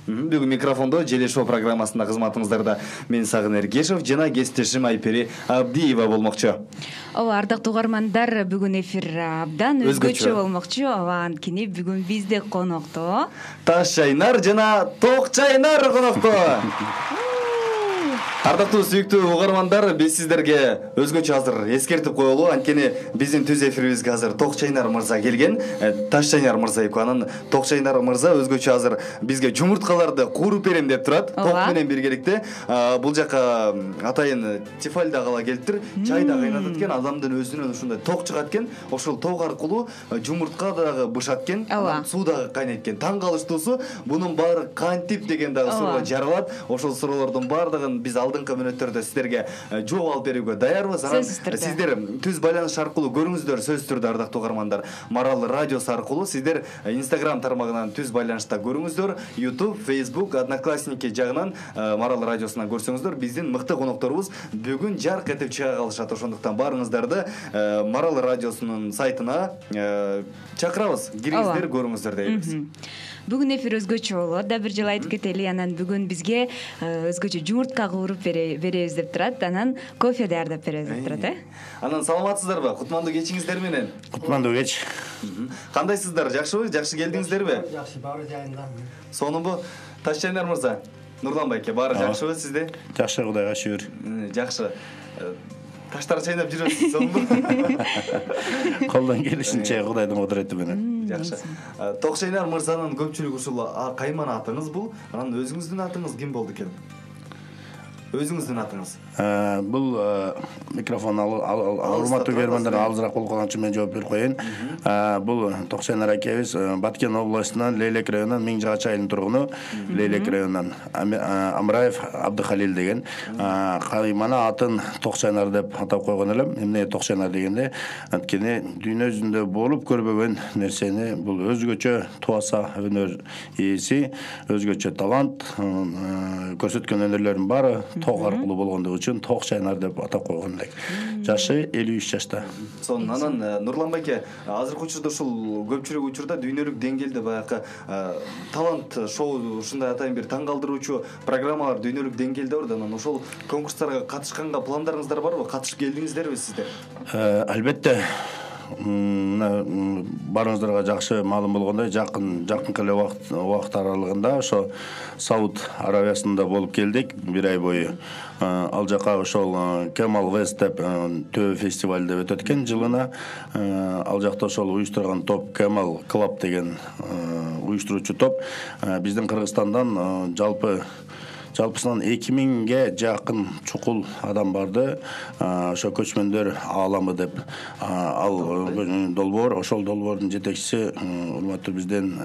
Бүгүн микрофондо Желе шоу программасында кызматыңыздарда мен Сагын Эргешев жана кесиптешим Айпери Абдиева болмокчу. Ооба, ардактуу угармандар, бүгүн эфир абдан өзгөчө болмокчу. Ооба, анткени бүгүн бизде конокто Таш чайнар жана Ток чайнар конокто. Ардактуу сүйүктүү угармандар, биз сиздерге өзгөчө азыр эскертип коелу, анткени биздин түз эфирибизге азыр Ток чайнар мырза келген. Таш чайнар мырза эки анан Ток чайнар мырза өзгөчө азыр бизге жумурткаларды кууруп берем деп турат. Ток менен биргеликте бул жака атайын тефаль да кала келиптир. Чай да кайнатат экен, адамдын өзүнөн ушундай ток чыгат экен. Ошол ток аркылуу жумуртка дагы бышат экен, суу дагы кайнайт экен. Таң калыштуусу бунун баары кантип деген дагы суроо жаралат. Ошол суроолордун баардыгын биз алдыңкы мүнөттөрдө сиздерге жооп алып берүүгө даярбыз. Сиздер түз байланыш аркылуу көрүңүздөр, сөзсүз түрдө ардактуу угармандар. Марал радиосу аркылуу сиздер Instagram тармагынан түз байланышта көрүңүздөр. YouTube, Facebook, Одноклассники жагынан Марал радиосунан көрсөңүздөр, биздин мыкты конокторубуз бүгүн жарк этип чыга калышат. Ошондуктан баарыңыздарды Марал радиосунун сайтына чакырабыз. Кириңиздер, көрүңүздөр дейбиз. Бүгүн эфир өзгөчө болот. Да бир жолу айтып кетели, анан бүгүн бизге өзгөчө жумуртка кууруп беребиз деп турат. Анан кофе даярдап беребиз деп турат, Анан саламатсыздарбы? Кутмандуу кечиңиздер менен. Кутмандуу кеч. Кандайсыздар? Жакшыбы? Жакшы келдиңиздерби? Жакшы, баары жайында. Сонунбу? Таш чайнар мырза, Нурлан байке, баары жакшыбы сизде? Жакшы, Кудайга шүгүр. Жакшы. Таштар чайнап жүрөсүз, сонунбу? Колдон келишинче Кудайдын кудурети менен. Жакшы. Ток чайнар мырзанын көпчүлүк ушул кайман атыңыз бул. Анан өзүңүздүн атыңыз ким болду экен? Өзүңүздүн атыңыз? Бул микрофон урматтуу көрөрмандар алысыраак болуп калган үчүн мен жооп берип коеюн. Бул Ток чайнар акебиз Баткен областынан Лейлек районунан Миңжагача айылынын тургуну, Лейлек районунан Амраев Абдыхалил деген. Каймана атын Ток чайнар деп атап койгон элем. Эмне Ток чайнар дегенде, анткени дүйнө жүзүндө болуп көрбөгөн нерсени бул өзгөчө туаса өнөр ээси, өзгөчө талант, көрсөткөн өнөрлөрдүн баары ток аркылуу болгондугу үчүн Ток чайнар деп атап койгон элек. Жашы 53 жашта. Сонун. Анан Нурлан байке, азыркы учурда ушул көпчүлүк учурда дүйнөлүк деңгээлде баягы талант шоу ушундай атайын бир таң калтыруучу программалар дүйнөлүк деңгээлде бар. Анан ошол конкурстарга катышканга пландарыңыздар барбы? Катышып келдиңиздерби сиздер? Албетте. Баарыңыздарга жакшы маалым болгондой, жакынкы эле убакыт аралыгында ошо Сауд Арабиясында болуп келдик бир ай бою. Ал жака ошол Camel West деп төбө фестиваль деп өтөт экен жылына. Ал жакта ошол уюштурган топ Camel Club деген уюштуруучу топ биздин Кыргызстандан жалпысынан 2000ге жакын чукул адам барды. Ошо көчмөндөр ааламы деп ал долбоор, ошол долбоордун жетекчиси урматтуу бизден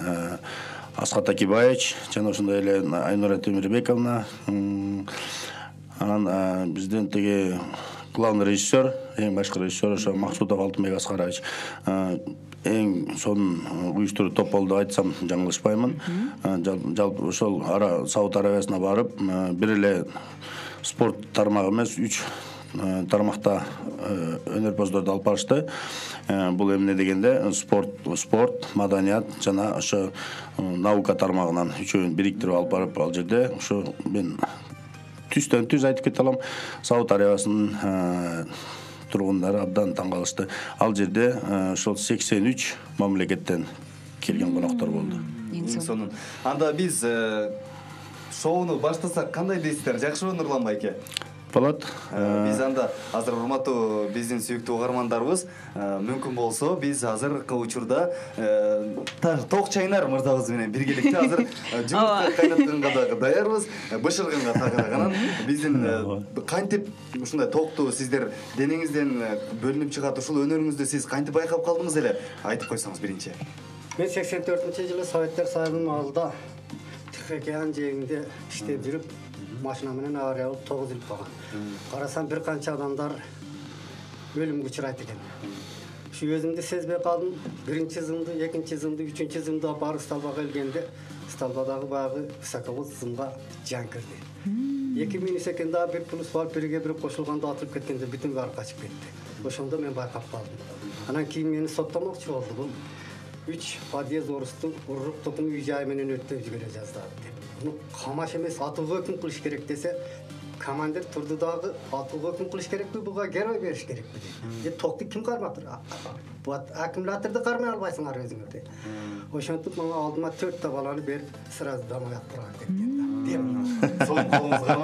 Асхат Акибаевич жана ошондой эле Айнура Темирбековна. Анан бизден тиги главный режиссер, эң башкы режиссер ошо Максутов Алтынбек Аскарович эң сонун уюштуруу топ болду айтсам жаңылышпаймын. Жалпы ошол Сауд Арабиясына барып, бир эле спорт тармагы эмес, 3 тармакта өнөрпоздорду алып барышты. Бул эмне дегенде спорт, маданият жана ошо наука тармагынан үчөөнү бириктирип алып барып, ал жерде ошо мен түздөн түз айтып кете алам. Сауд Арабиясынын тургундары абдан таң калышты. Ал жерде ошол 83 мамлекеттен келген коноктор болду. Сонун. Анда биз шоуну баштасак кандай дейсиздер? Жакшыбы Нурлан байке? Болот. Биз анда азыр урматтуу биздин сүйүктүү угармандарыбыз, мүмкүн болсо биз азыркы учурда Ток чайнар мырзабыз менен биргеликте азыр жумуртка кайнатканга дагы даярбыз, бышырганга тагыраган. Биздин кантип ушундай токту сиздер денеңизден бөлүнүп чыгат, ушул өнөрүңүздү сиз кантип байкап калдыңыз эле? Айтып койсоңуз биринчи. Мен 84-жылы Советтер Союзунун алдында Океан жээгинде иштеп жүрүп, машина менен авария болуп 9 жыл болгон. Карасам бир канча адамдар өлүмгө учурайт экен. Ушу өзүмдү сезбей калдым. Биринчи зымды, экинчи зымды, үчүнчү зымда барып столбага келгенде, столбадагы баягы высоковод зымга жан кирди. 2 минут секундда 1+1 кошулганда атып кеткенде бүтүн баары качып кетти. Ошондо мен байкап калдым. Анан кийин мени соттомокчу болду. Бул 3 подъезд уруп токум үй жай менен өттөп жибере жаздады деп. Муну камаш эмес атууга өкүм кылыш керек десе, командир турду дагы атууга өкүм кылыш керекпи, буга герой бериш керекпи дейт. Токту ким кармап тур? Аккумуляторду кармай албайсыңар өзүңөр дейт. Ошентип мага алдыма 4 баланы берип, сразу домой отправить этти. Сол колуңузга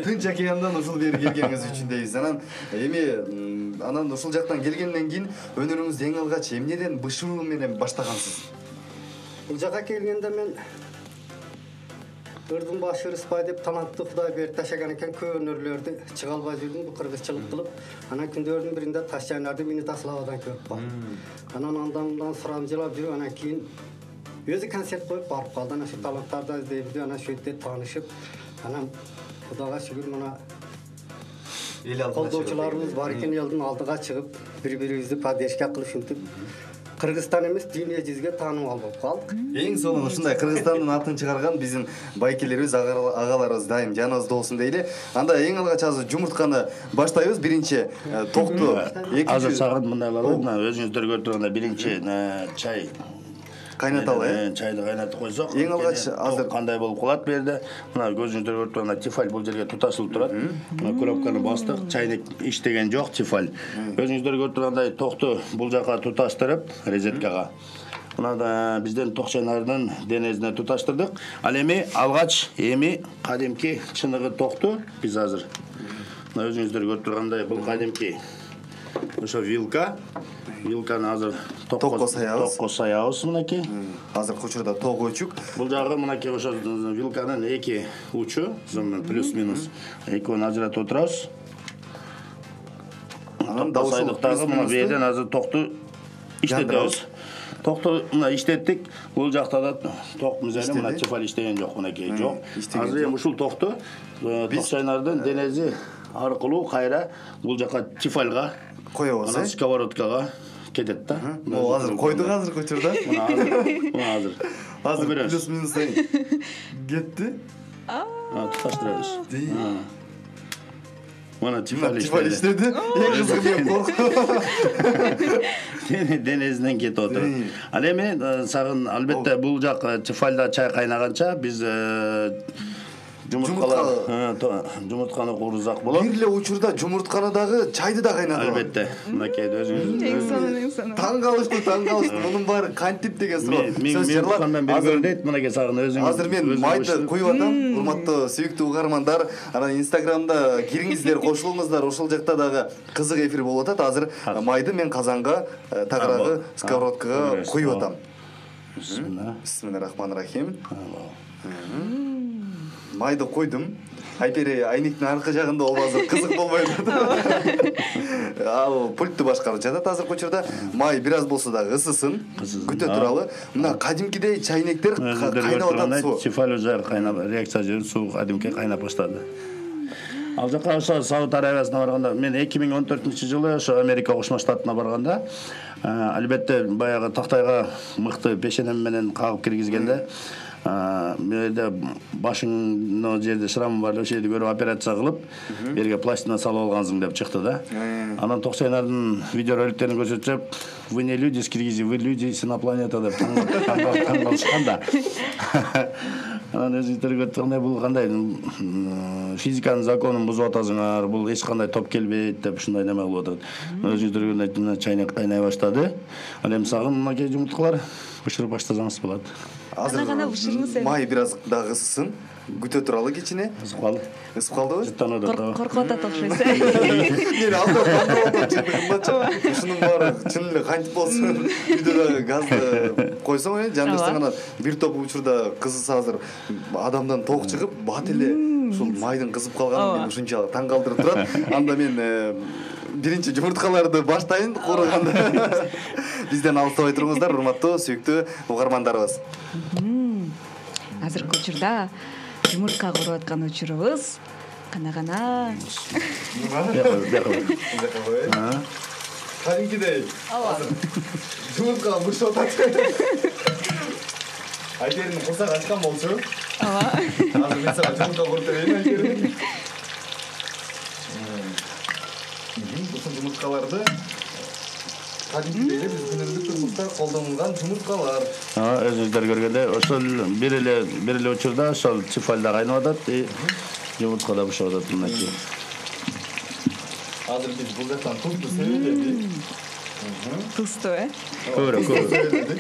Тынч океандан ушул бери келгениңиз үчүн дейбиз. Анан ушул жактан келгенден кийин өнөрүңүздү эң алгач эмнеден бышыруу менен баштагансыз? Бул жака келгенде мен Ырдын башы Рыспай деп талантты Кудай берип ташаган экен, көп өнөрлөрдү чыга албай жүрдүм, бу кыргызчылык кылып. Анан күндөрдүн биринде Ташчайнарды мени Таславадан көрүп калды. Анан андан сурамжылап жүрүп, анан кийин өзү концерт коюп барып калды. Анан ошо таланттарды издейбиз, анан ошо жерде таанышып, анан Кудайга шүгүр мына эл алдына колдоочуларыбыз бар экен, элдин алдыга чыгып, бири-бирибизди поддержка кылып ушинтип Кыргызстан эмес, дүйнө жүзүгө таанымал болуп калдык. Эң сонун ушундай Кыргызстандын атын чыгарган биздин байкелерибиз, агаларыбыз дайым жаныбызда болсун дейли. Анда эң алгач азыр жумуртканы баштайбыз. Биринчи токту азыр сагын мындайлар бар. Мына өзүңүздөр көрүп тургандай биринчи чай кайнаталы, чайды кайнатып койсок, эң алгач азыр кандай болуп калат бу жерде? Мына көзүңүздөр көрүп тургандай тефаль бул жерге туташылып турат. Мына кнопканы бастык, чайник иштеген жок, тефаль. Өзүңүздөр көрүп тургандай токту бул жака туташтырып, резеткага. Мына да бизден Токчайнардын денесине туташтырдык. Ал эми алгач кадимки чыныгы токту биз азыр мына өзүңүздөр көрүп тургандай бул кадимки ошо вилканы азыр токко саябыз мынакей. Азыркы учурда ток өчүк. Бул жагы мынакей ошо вилканын эки учу, плюс-минус экөөнү ажыратып отурабыз. Анан дагы мына бу жерден азыр токту иштетебиз. Токту мына иштеттик. Бул жакта да ток мизери мына тефаль иштеген жок, мынакей жок. Азыр эми ушул токту Токчайнардын денеси аркылуу кайра бул жака тефальга коебуз, анан сковородкага кетет да. Могу азыр койдук азыркы учурда. Мына азыр плюс-минус кетти. Туташтырабыз. Мына тефаль иштеди. Эң кызыгы мен коркуп. Денесинен кетип отур. Ал эми сагын албетте бул жак тефальда чай кайнаганча биз жумуртканы куурузак болот. Бир эле учурда жумуртканы дагы чайды да кайнатат. Албетте. Мынакей өзүңүз Эң сонун. Таң калыштым. Мунун баары кантип деген суроо. Сөз жырлап азыр дейт, мынакей сагын өзүңүз. Азыр мен майды куюп атам. Урматтуу сүйүктүү угармандар, анан Инстаграмда кириңиздер, кошулуңуздар. Ошол жакта дагы кызык эфир болуп атат. Азыр майды мен казанга, тагыраагы, сковородкага куюп атам. Бисмиллахиррахманиррахим. Майды койдум. Айпери айниктин аркы жагында болбосо кызык болбойт. Ал пультту башкарып жатат азыркы учурда. Май бир аз болсо дагы ысысын, күтө туралы. Мына кадимкидей чайнектер кайнап атат суу. Тефаль уже кайнап, реакция жүрүп суу кадимки кайнап баштады. Ал жака ошо Сауд Арабиясына барганда, мен 2014-жылы ошо Америка Кошмо Штатына барганда, албетте баягы тактайга мыкты пешенем менен кагып киргизгенде, менде башыңдын жерде шрамы бар, ошол жерди көрүп операция кылып, берге пластина салып алгансың деп чыкты да. Анан Токчайнардын видеороликтерин көрсөтсөп, вы не люди с Киргизии, вы люди с инопланета деп таң калышкан да. Анан өзүңүздөр көрүп тургандай бул кандай физиканын законун бузуп атасыңар, бул эч кандай топ келбейт деп ушундай неме кылып атат. Өзүңүздөр көргөндөй чайнек кайнай баштады. Ал эми сагын мынакей жумурткалар бышырып баштасаңыз болот. Азыр гана бышырыңыз эми. Май бир аз дагы ысысын, күтө туралы кичине. Ысып калды. Ысып калдыбы? Коркуп атат окшойт. Мен алдап чындыгындачы. Ушунун баары чын эле кантип болсун, үйдө газды койсоң жандырсаң анан бир топ учурда кызса азыр адамдан ток чыгып, бат эле ушул майдын кызып калганын мени ушунчалык таң калтырып турат. Анда мен биринчи жумурткаларды баштайын курганда. Бизден алыстабай туруңуздар, урматтуу сүйүктүү угармандарыбыз. Азыркы учурда жумуртка куруп аткан учурубуз кана-кана. Кадимкидей. Жумуртка бышып атат. Айтердин курсак ачкан болчу. Азыр мен сага жумуртка куруп берейин, Айтердин. Ушул жумурткаларды кадимкидей эле биз күнүмдүк турмушта колдонулган жумурткалар. Өзүңүздөр көргөндөй ошол бир эле учурда ошол цифальда кайнап атат и жумуртка да бышап атат мынакей. Азыр биз бул жактан тузду себеледик. Тусту, Көбүрөөк сеп.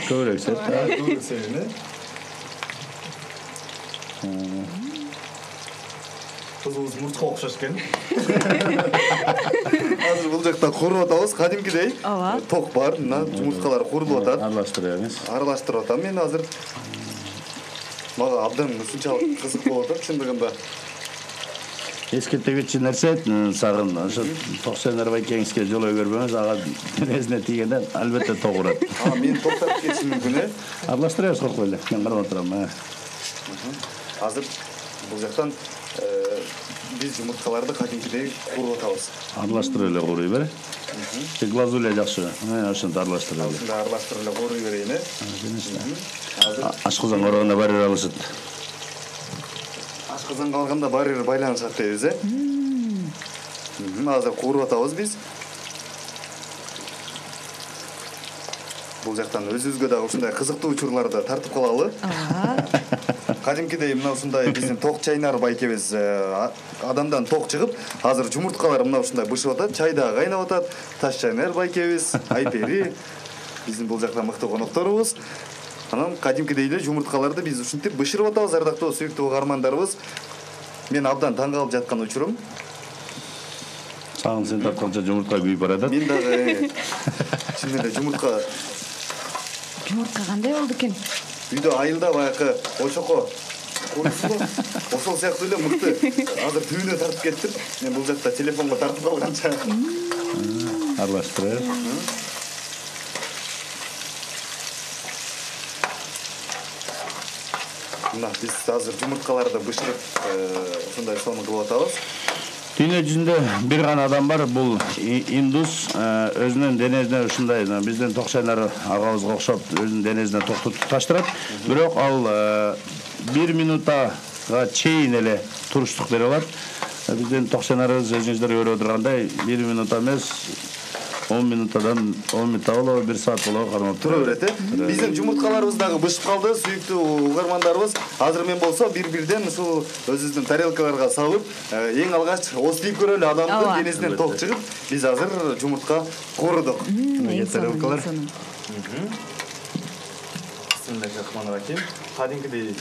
Тузду себеле. Тузубуз мурчка окшош экен. Азыр бул жакта куруп атабыз кадимкидей. Ток бар, мына жумурткалар курулуп атат. Аралаштырып атам мен азыр. Мага абдан ушунчалык кызык болуп атат чындыгында. Эскерте кетчү нерсе сагын ошо токсойнор байкеңизге жолой көрбөңүз, ага денесине тийгенде албетте ток урат. Мен токтоп кетишим мүмкүн э. Аралаштырабыз, коркпой эле. Мен карап турам. Азыр бул жактан биз жумурткаларды кадимкидей куруп атабыз. Аралаштырып эле куруй бер. Глазуля жакшы. Ошентип аралаштырып эле. Ушундай аралаштырып эле куруй берейин э. Азыр ашкызан коргондо барьер алышат. Ашкызанга алганда барьер байланышат дейбиз э. Азыр куруп атабыз биз. Бул жактан өзүбүзгө дагы ушундай кызыктуу учурларды тартып калалы. Кадимкидей мына ушундай биздин ток чайнар байкебиз адамдан ток чыгып, азыр жумурткалар мына ушундай бышып атат, чай дагы кайнап атат. Таш чайнар байкебиз, Айпери биздин бул жакта мыкты конокторубуз. Анан кадимкидей эле жумурткаларды биз ушинтип бышырып атабыз, ардактуу сүйүктүү угармандарыбыз. Мен абдан таң калып жаткан учурум. Сагын сен тартканча жумуртка күйүп барат. Мен дагы чын эле жумуртка кандай болду экен? Үйдө айылда баягы очоко курусу ошол сыяктуу эле мыкты. Азыр түбүнө тартып кеттим. Мен бул жакта телефонго тартып калганча аралаштырып. Мына биз азыр жумурткаларды бышырып ушундай сонун кылып атабыз. Дүйнө жүзүндө бир гана адам бар, бул индус, өзүнүн денесине ушундай биздин токчайнар агабызга окшоп өзүнүн денесине токту туташтырат. Бирок ал 1 минутага чейин эле туруштук бере алат. Биздин токчайнарыбыз өзүңүздөр көрүп отургандай 1 минут эмес 10 минуттан 10 минутта болобу, 1 саат болобу кармап тура берет э. Биздин жумурткаларыбыз дагы бышып калды, сүйүктүү угармандарыбыз. Азыр мен болсо бир-бирден ушул өзүбүздүн тарелкаларга салып, эң алгач озтип көрөлү адамдын денесинен ток чыгып, биз азыр жумуртка курдук. Тарелкалар. Бисмиллахиррахманиррахим. Кадимкидей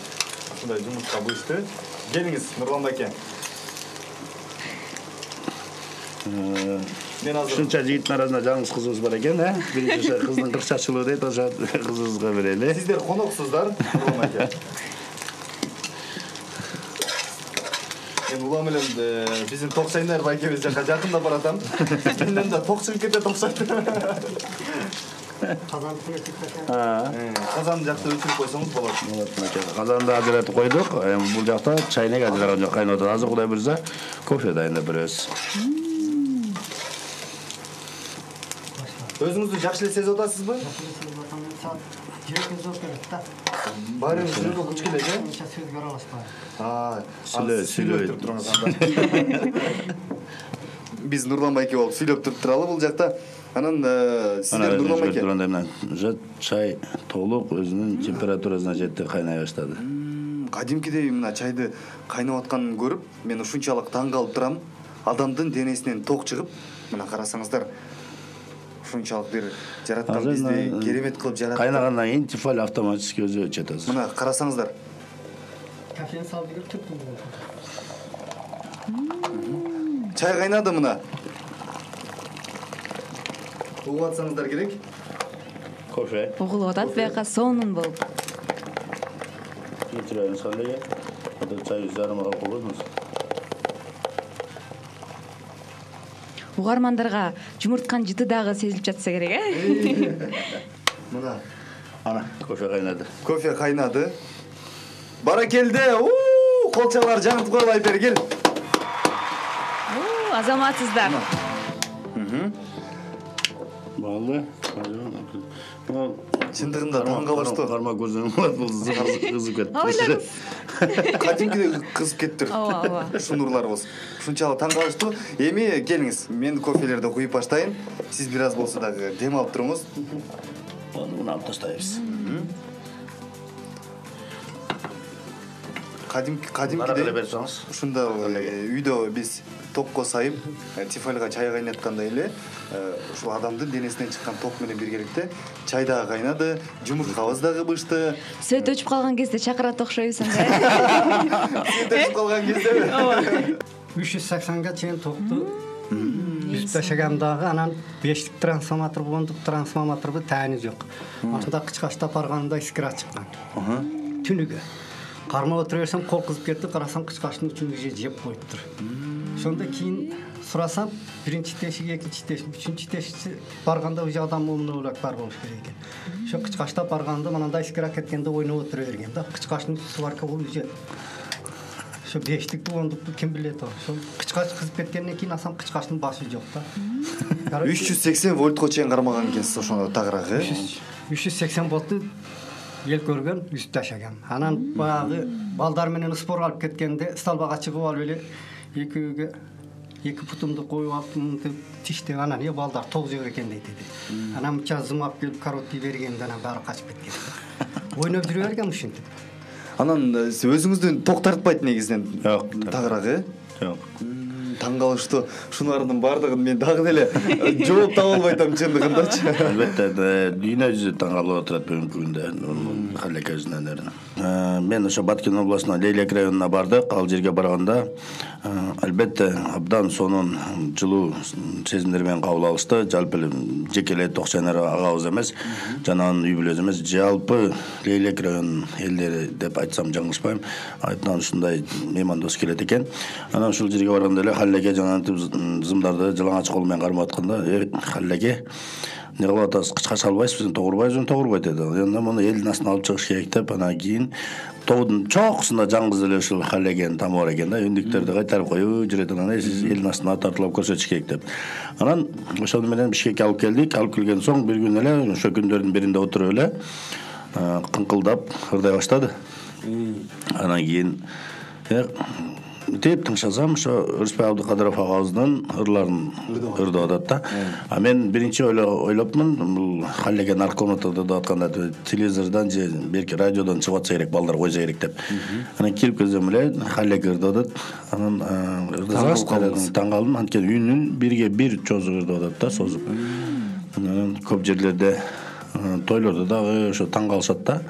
ушундай жумуртка бышты. Келиңиз, Нурлан байке. Мен азыр ушунча жигиттин арасында жаңыз кызыбыз бар экен, биринчи кыздын кырчачылыгы дейт, ошо кызыбызга берели. Сиздер коноксуздар, Нурлан байке. Мен улам эле биздин токчайнар байкебиз жака жакындап баратам. Менден да ток чыгып кетет окшойт. Казан жакта өчүрүп койсоңуз болот. Казанды ажыратып койдук. Бул жакта чайнек ажыраган жок, кайнап атат. Азыр Кудай буйрса кофе дайындап беребиз. Өзүңүздү жакшы эле сезип атасызбы? Баарыбыз жүрөгкө күч келет, э? Сөзгө аралашпай. Сүйлөп туруңуз анда. Биз Нурлан байке болуп сүйлөп туруп туралы бул жакта. Анан сиздер Нурлан байке. Уже чай толук өзүнүн температурасына жетти, кайнай баштады. Кадимкидей мына чайды кайнап атканын көрүп, мен ушунчалык таң калып турам. Адамдын денесинен ток чыгып, мына карасаңыздар, ушунчалык бир жараткан бизди керемет кылып жаратты. Кайнагандан кийин тифаль автоматически өзү өчөт азыр. Мына карасаңыздар. Кофени салып келип түрттүм. Чай кайнады мына. Угуп атсаңыздар керек. Кофе. Угулуп атат, бияка сонун болуп. Кетиребиз кандай? Ада чай жарымга койгонбуз. Угармандарга жумуртканын жыты дагы сезилип жатса керек, э? Мына. Ана, кофе кайнады. Кофе кайнады. Баракелде. Колчалар жаңытып коелу, Айпери кел. Азаматсыздар. Болду. Чындыгында таң калыштуу. Карма көрсөң болот, бул кызып кетти. Ойлоңуз. Кадимкидей кызып кетиптир. Ооба. Ушунурлар болсун. Ушунчалык таң калыштуу. Эми келиңиз, мен кофелерди куюп баштайын. Сиз бир аз болсо дагы дем алып туруңуз. Муну алып тастайбыз. Кадимкидей ушунда үйдө биз токко сайып, тефальга чай кайнаткандай эле ушул адамдын денесинен чыккан ток менен биргеликте чай дагы кайнады, жумурткабыз дагы бышты. Сөйт өчүп калган кезде чакырат окшойбуз анда. Сөйт өчүп калган кездеби? 380га чейин токту үст ташагандагы анан 5 трансформатор болгондук, трансформатордун таани жок. Ошондо кычкачта барганда искра чыккан. Түнүгө кармап отура берсем кол кызып кетти, карасам кычкачтын үчүн жеп коюптур. Ошондо кийин сурасам, биринчи тешик, экинчи тешик, үчүнчү тешикчи барганда уже адам умнураак бар болуш керек экен. Ошо кычкачта барганда мындай искра кеткенде ойноп отура берген да. Кычкачтын сварка болуп уже ошо 5тик болгондукту ким билет ошо. Кычкач кызып кеткенден кийин асам кычкачтын башы жок да. 380 вольтко чейин кармаган экенсиз ошондо тагыраак, 380 вольтту ел көргөн үст ташагам. Анан баягы балдар менен спор алып кеткенде столбага чыгып алып эле экөөгө 2 путумду коюп алып мынтип тиштеп анан балдар ток жеп экен дейт. Анан мынча зымап келип короткий бергенде анан баары качып кеткен. Ойноп жүрө берген ушинтип. Анан сиз өзүңүздүн ток тартпайт негизинен. Жок, тагыраак, Жок. Таң калыштуу. Шунардын баардыгын мен дагы деле жооп таба албай атам чындыгындачы. Албетте, дүйнө жүзү таң калып отурат бүгүнкү күндө Халека жүзүнөн. Мен ошо Баткен областынын Лейлек районуна бардык. Ал жерге барганда албетте абдан сонун жылуу сезимдер менен кабыл алышты. Жалпы эле жеке эле Токчайнар агабыз эмес, жана анын үй бүлөсү эмес, жалпы Лейлек районунун элдери деп айтсам жаңылышпайм. Айттан ушундай меймандос келет экен. Анан ушул жерге барганда эле Халеге жана зымдарды жалаңач кол менен кармап атканда, Халеге не кылып атасыз, кычкач албайсызбы, тогурбайсызбы, тогурбайт деди. Анда муну элдин астына алып чыгыш керек деп, анан кийин тоодун чокусунда жалгыз эле ушул Халеген тамы бар экен да, үндүктөрдү кайтарып коюп жүрөт. Анан сиз элдин астына тартылып көрсөтүш керек деп. Анан ошону менен Бишкекке алып келдик. Алып келген соң бир күн эле ошо күндөрдүн биринде отуруп эле кыңкылдап ырдай баштады. Анан кийин деп тыңшасам, ошо Рыспай Абдыкадыров агабыздын ырларын ырдап атат да. А мен биринчи ойлопмун, бул Халеген наркомнатада деп атканда телевизордон же берки радиодон чыгып атса керек, балдар койсо керек деп. Анан кирип келсем эле Халеге ырдап атат. Анан таң калдым, анткени үнүн бирге бир чозуп ырдап атат да, созуп. Анан көп жерлерде тойлордо дагы ошо таң калышат да.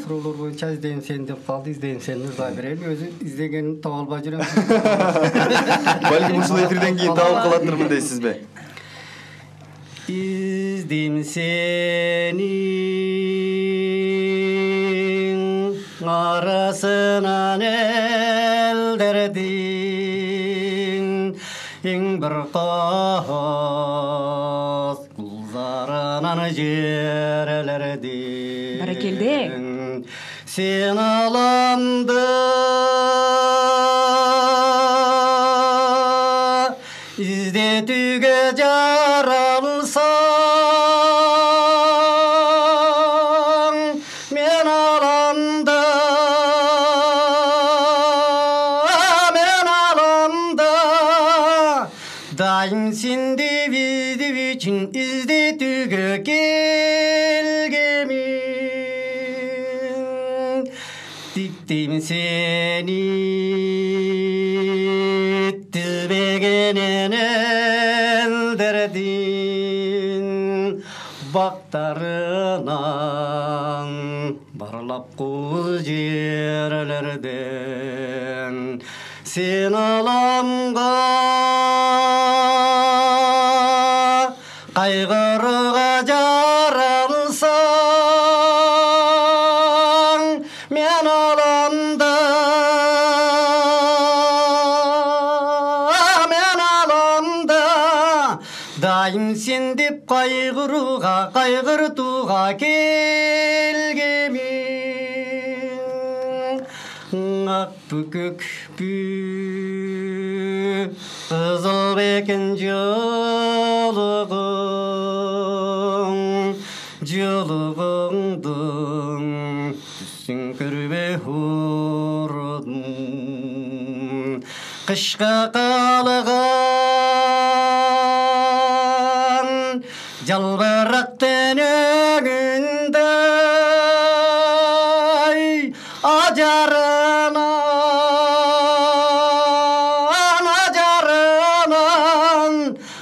Суроолор боюнча издейм сени деп калды, издейм сени ырдай берели. Өзү издегенин таба албай жүрөм. Балким ушул эфирден кийин таап калатырмын дейсизби? İzdim seni arasından elderdin bir kaz kullarından jerelerdin. Barakelde. Sen alandı İzdetüge jaralsan men alanda daim sindi bizdi için İzdetüge gelgemin diktim seni tübegenen elderdin baktarınan barlap kuz yerlerden sen alamga kaygırıga jaralsan men alanda daim sen dep kaygırtuğa kelgemin ak bükük kızıl beken jolugum мурдун кышка калган жалбырак тенегиндей ажарынан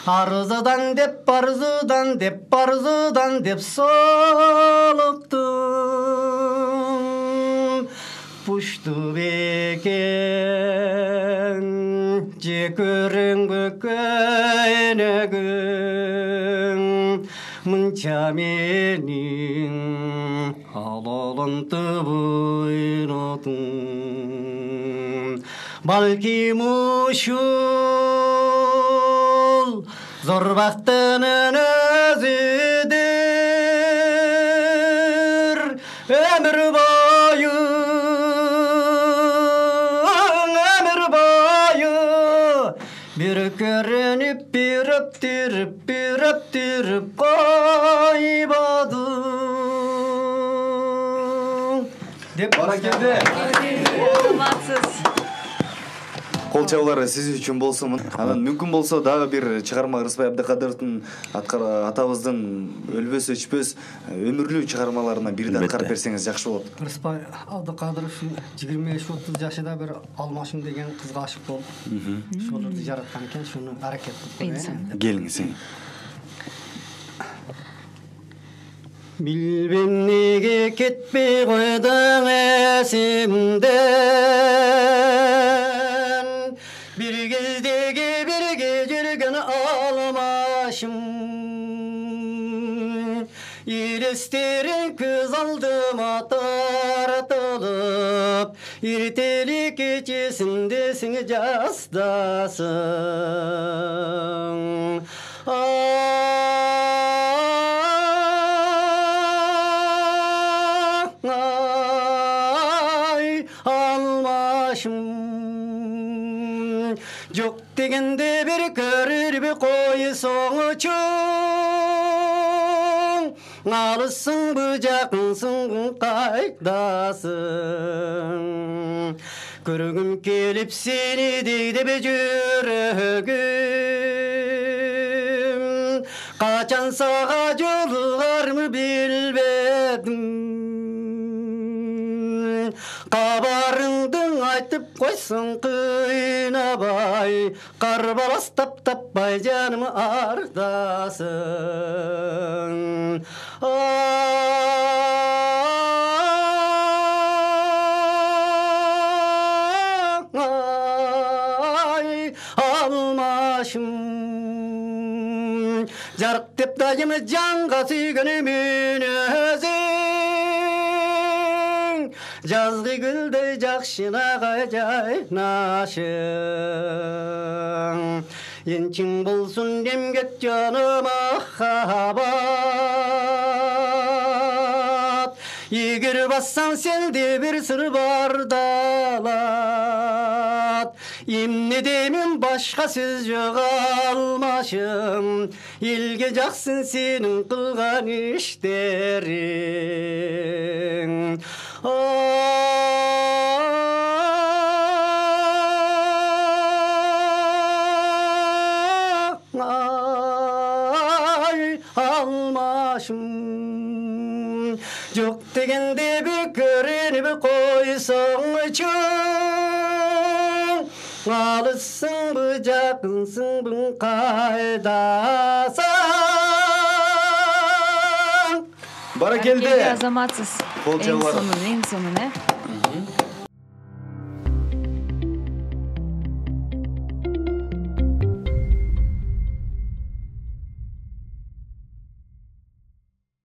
арзыдан деп солуктум пушту бекен же көрүнгө көйнөгүң мынча менин алалантып ойнотум балким ушул зор бактынын өзүдүр өмүр бою бир көрүнүп бир өптүрүп койбодуң деп Баракелде. Саламатсыз. Кол чабуулар сиз үчүн болсун. Анан мүмкүн болсо дагы бир чыгарма Ырысбай Абдыкадыровдун атабыздын өлбөс өчпөс өмүрлүү чыгармаларынан бирди аткарып берсеңиз жакшы болот. Ырысбай Абдыкадыров 25-30 жашында бир Алмашым деген кызга ашык болуп, ошолорду жараткан экен, шуну аракет кылып. Келиңиз. Билбем неге кетпей койдуң эсимден бир кездеги бирге жүргөн Алмашым элестериң көз алдыма таратылып эртелик кечесинде сен жастасың Алмашым жок дегенде бир көрүрбү койсоңчуң алысыңбы жакынсыңбы кайдасың көргүм келип сени дейди жүрөгүм качан сага жолугармы билбедим кабарыңды айтып койсоң кыйнабай карбалас таппай жаным ардасың Алмашым жарык деп дайым жанга сүйгөнүмүн өзүң жазгы гүлдөй жакшынага жайнашың энчиң болсун эмгек жаным махабат эгер бассаң сенде бир сыр бар далат эмне деймин башка сөз жок Алмашым элге жаксын сенин кылган иштериң Алмашым жок дегенде бир көрүнүп койсоңчуң алысыңбы жакынсыңбы кайдасың Баракелде. Азаматсыз. Кол чабуулар. Эң сонун